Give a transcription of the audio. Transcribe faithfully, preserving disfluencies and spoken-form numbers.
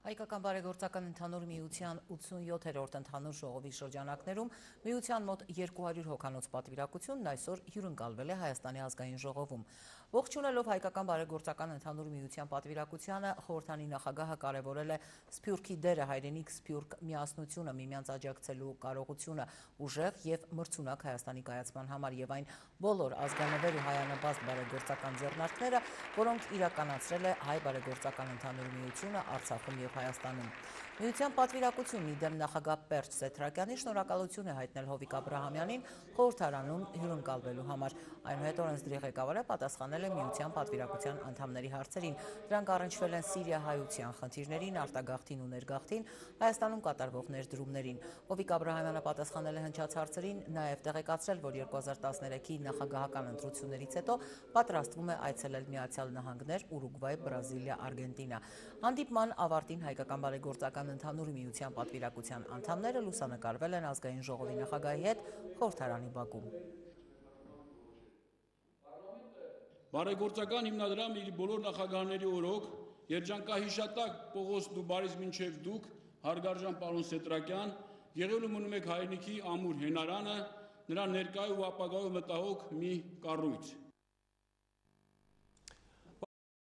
Հայկական բարեգործական ընդհանուր միության ութսունյոթերորդ ընդհանուր ժողովի շրջանակներում միության մոտ երկու հարյուր հոգանոց պատվիրակությունն այսօր հյուրընկալվել է Հայաստանի ազգային ժողովում։ Ողջունելով Հայկական բարեգործական ընդհանուր միության պատվիրակությանը, խորհրդանի նախագահը կարևորել է Սփյուռքի դերը, հայրենիք Սփյուռք միասնությունը, միմյանց աջակցելու կարողությունը, ուժեղ եւ մրցունակ Հայաստանի կայացման համար եւ այն բոլոր ազգանվեր ու հայանաբազդ բարեգործական ձեռնարկները, որոնք իրականացրել է Հայ բարեգործական ընդհանուր միությունը Արցախում եւ Հայաստանում։ Միության պատվիրակությունն իդեմ նախագահ Պերճ Սեթրակյանի շնորհակալություն է հայտնել Հովիկ Աբրահամյանին խորհրդարանում հյուրընկալվելու համար։ Այնուհետ օրենսդրի ղեկավարը պատասխանել է միության պատվիրակության անդամների հարցերին։ Դրանք առնչվել են Սիրիա-հայության խնդիրներին, արտագաղթին ու ներգաղթին, Հայաստանում կատարվող ներդրումներին։ Հովիկ Աբրահամյանը պատասխանել է հնչած հարցերին, նաև տեղեկացրել, որ երկու հազար տասներեքի նախագահական ընտրություններից հետո պատրաստվում է այցելել Միացյալ Նահանգներ, Ուրուգվայ, Բրազիլիա, Արգենտինա։ Հանդիպման ավարտին Հայկական բարեգործական ընդհանուր միության պատվիրակության անդամները լուսանկարվել են ազգային ժողովի նախագահի հետ խորհրդարանի բակում։ Բարեգործական հիմնադրամը իր բոլոր նախագահների օրոք, երջանկահիշատակ Պողոս Դուբարից մինչև դուք, հարգարժան պարոն Սեթրակյան, եղել ու մնում եք հայրենիքի ամուր հենարանը, նրա ներկայ ու ապագայով մտահոգ մի կառույց։